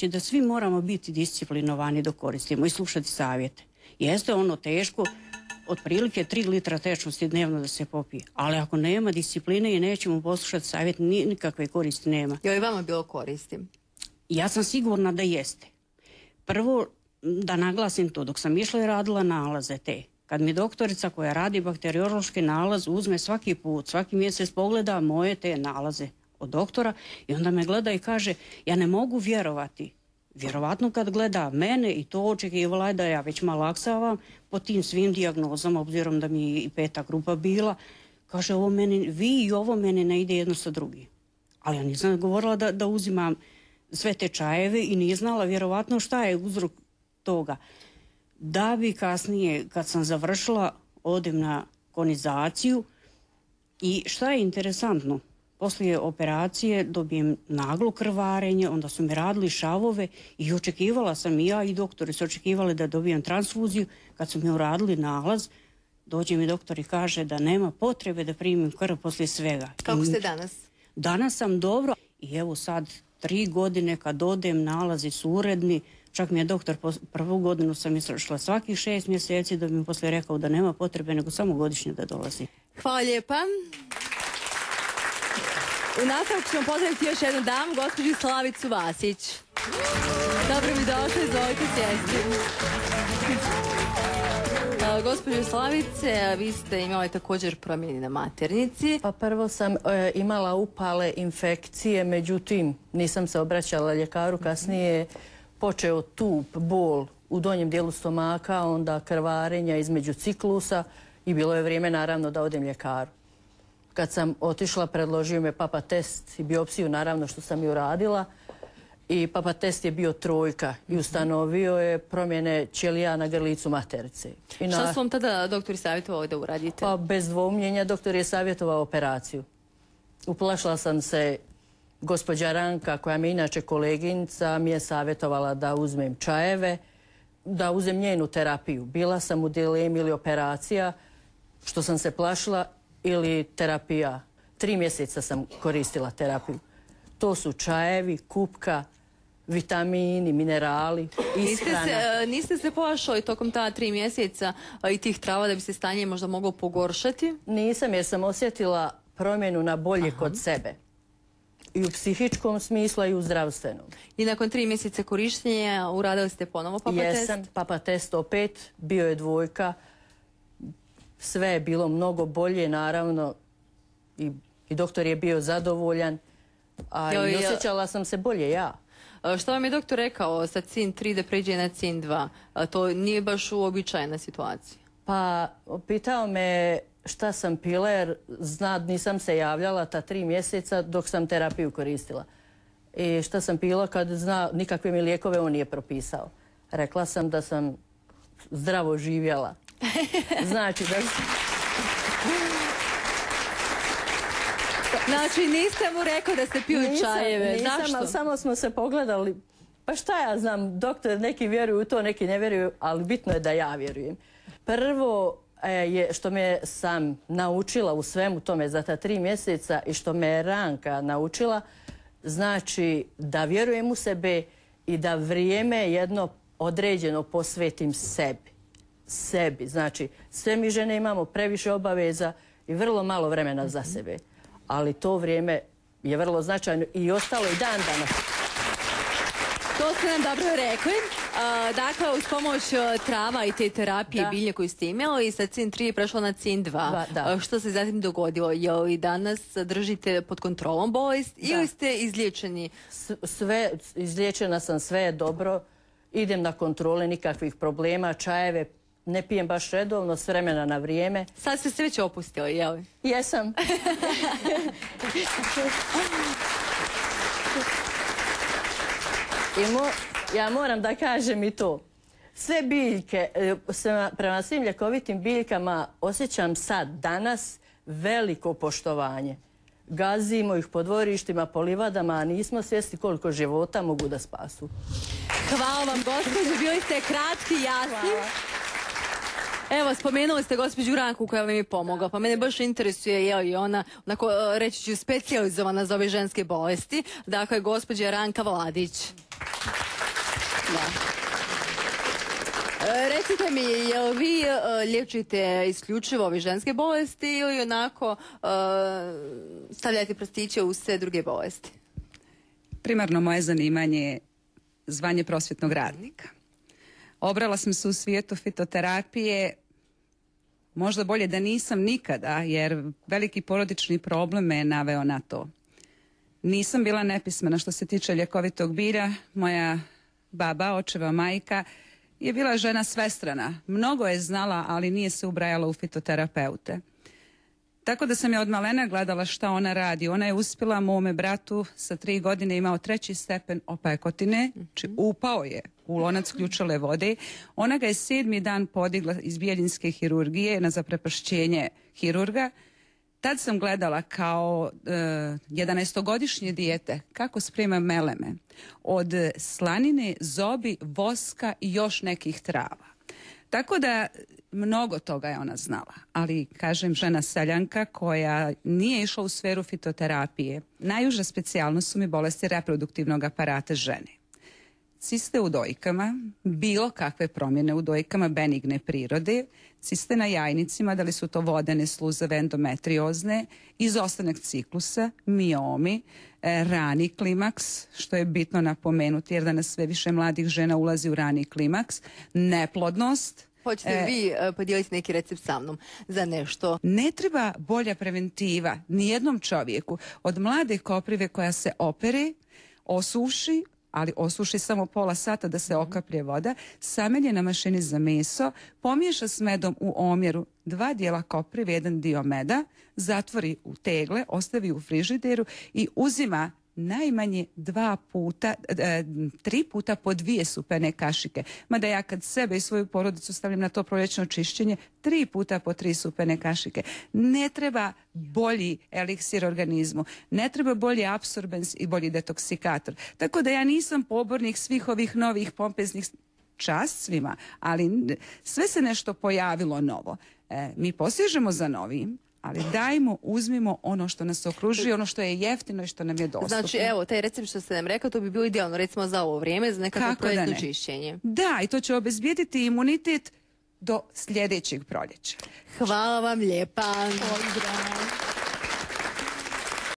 reći da svi moramo biti disciplinovani dok koristimo i slušati savjete. Jeste ono teško, otprilike 3 litra tečnosti dnevno da se popije, ali ako nema discipline i nećemo poslušati savjet, nikakve koristi nema. Je li vama bilo koristi? Ja sam sigurna da jeste. Prvo, da naglasim to, dok sam išla i radila nalaze te, kad mi doktorica koja radi bakteriološki nalaz uzme svaki put, svaki mjesec pogleda moje te nalaze od doktora i onda me gleda i kaže, ja ne mogu vjerovati. Vjerovatno kad gleda mene i to očekivala je da ja već malaksavam po tim svim dijagnozama, obzirom da mi je i 5. grupa bila, kaže, ovo meni, vi i ovo meni ne ide jedno sa drugim. Ali ja nisam govorila da uzimam sve te čajeve i nije znala vjerovatno šta je uzrok toga. Da bi kasnije, kad sam završila, odem na konizaciju i šta je interesantno, poslije operacije dobijem naglo krvarenje, onda su mi radili šavove i očekivala sam i ja i doktori su očekivali da dobijem transfuziju. Kad su mi uradili nalaz, dođe mi doktor i kaže da nema potrebe da primim krv poslije svega. Kako ste danas? Danas sam dobro i evo sad 3 godine kad odem, nalazi su uredni. Čak mi je doktor, prvu godinu sam išla svakih 6 mjeseci da bi mi poslije rekao da nema potrebe nego samo godišnje da dolazi. Hvala lijepa. U nastavku ćemo pozdraviti još jednu damu, gospođu Slavicu Vasić. Dobro mi došli, izvolite sjesti. Gospođo Slavice, vi ste imali također promjeni na maternici. Pa prvo sam imala upale, infekcije, međutim nisam se obraćala ljekaru, kasnije počeo tup, bol u donjem dijelu stomaka, onda krvarenja između ciklusa i bilo je vrijeme naravno da odem ljekaru. Kad sam otišla, predložio me papa test i biopsiju, naravno što sam i uradila. I papa test je bio 3 i ustanovio je promjene ćelija na grlicu materice. Šta su vam tada doktori savjetovali da uradite? Pa bez dvoumljenja doktor je savjetovao operaciju. Uplašila sam se, gospođa Ranka, koja mi je inače koleginica, mi je savjetovala da uzmem čajeve, da uzem njenu terapiju. Bila sam u dilemi ili operacija, što sam se plašila, ili terapija. 3 mjeseca sam koristila terapiju. To su čajevi, kupka, vitamini, minerali, ishrana. Niste se plašali tokom ta 3 mjeseca i tih trava da bi se stanje možda moglo pogoršati? Nisam, jer sam osjetila promjenu na bolje kod sebe. I u psihičkom smislu i u zdravstvenom. I nakon 3 mjeseca korištenja uradili ste ponovo papa test? Jesam, papa test opet, bio je 2. Sve je bilo mnogo bolje, naravno, i doktor je bio zadovoljan, a i osjećala sam se bolje ja. Što vam je doktor rekao sa CIN 3 da pređe na CIN 2? To nije baš uobičajena situacija. Pa, pitao me šta sam pila, jer nisam se javljala ta 3 mjeseca dok sam terapiju koristila. I šta sam pila kad nikakve mi lijekove on nije propisao. Rekla sam da sam zdravo živjela. Znači da... Znači niste mu rekao da ste pili čajeve. Zašto? Ali samo smo se pogledali. Pa šta ja znam, doktor, neki vjeruju u to, neki ne vjeruju, ali bitno je da ja vjerujem. Prvo je što me sam naučila u svemu tome za ta 3 mjeseca i što me je Ranka naučila, znači da vjerujem u sebe i da vrijeme jedno određeno posvetim sebi. Znači, sve mi žene imamo previše obaveza i vrlo malo vremena za sebe. Ali to vrijeme je vrlo značajno i ostalo i dan danas. To ste nam dobro rekli. Dakle, uz pomoć trava i te terapije bilje koju ste imali i sa CIN 3 je prešlo na CIN 2. Što se zatim dogodilo? Je li danas držite pod kontrolom bolest ili ste izliječeni? Sve, izliječena sam, sve je dobro. Idem na kontrole, nikakvih problema, čajeve ne pijem baš redovno, s vremena na vrijeme. Sad ste se već opustili, jel? Jesam. Ja moram da kažem i to. Sve biljke, prema svim ljekovitim biljkama osjećam sad, danas, veliko poštovanje. Gazimo ih po dvorištima, po livadama, a nismo svjesni koliko života mogu da spasu. Hvala vam, gospođo, bili ste kratki, jasni. Evo, spomenuli ste gospođu Ranku koja vam je pomogla, pa mene baš interesuje je li ona, onako reći ću, specijalizovana za ove ženske bolesti. Dakle, gospođa Ranka Vladić. Recite mi, jel vi liječite isključivo ove ženske bolesti ili onako stavljate prstiće u sve druge bolesti? Primarno moje zanimanje je zvanje prosvjetnog radnika. Obrala sam se u svijetu fitoterapije, možda bolje da nisam nikada, jer veliki porodični problem me je naveo na to. Nisam bila nepismena što se tiče ljekovitog bilja. Moja baba, očeva majka, je bila žena svestrana. Mnogo je znala, ali nije se ubrajala u fitoterapeute. Tako da sam je od malena gledala šta ona radi. Ona je uspjela mome bratu sa 3 godine, imao 3. stepen opekotine, znači upao je u lonac ključale vode. Ona ga je 7. dan podigla iz bijeljinske hirurgije na zaprepašćenje hirurga. Tad sam gledala kao 11-godišnje dijete kako sprema meleme od slanine, zobi, voska i još nekih trava. Tako da mnogo toga je ona znala, ali kažem žena seljanka koja nije išla u sferu fitoterapije. Najuža specijalnost su mi bolesti reproduktivnog aparata žene. Ciste u dojkama, bilo kakve promjene u dojkama benigne prirode, ciste na jajnicima, da li su to vodene, sluzave, endometriozne, izostanak ciklusa, miomi, rani klimaks, što je bitno napomenuti jer danas sve više mladih žena ulazi u rani klimaks, neplodnost. Hoćete vi podijeliti neki recept sa mnom za nešto? Ne treba bolja preventiva nijednom čovjeku od mlade koprive koja se opere, osuši, ali osuši samo pola sata da se okaplje voda, samelje na mašini za meso, pomiješa s medom u omjeru 2 dijela koprive, 1 dio meda, zatvori u tegle, ostavi u frižideru i uzima najmanje 3 puta po 2 supene kašike. Mada ja kad sebe i svoju porodicu stavljam na to proljećno čišćenje, 3 puta po 3 supene kašike. Ne treba bolji eliksir organizmu, ne treba bolji apsorbens i bolji detoksikator. Tako da ja nisam pobornik svih ovih novih pompeznih, čast svima, ali sve se nešto pojavilo novo. Mi posežemo za novim, ali dajmo, uzmimo ono što nas okružuje, ono što je jeftino i što nam je dostupno. Znači, evo, taj recept što ste nam rekao, to bi bilo idealno, recimo za ovo vrijeme, za nekako proljetno čišćenje. Da, i to će obezbijediti imunitet do sljedećeg proljeća. Hvala vam lijepa. Pozdrav.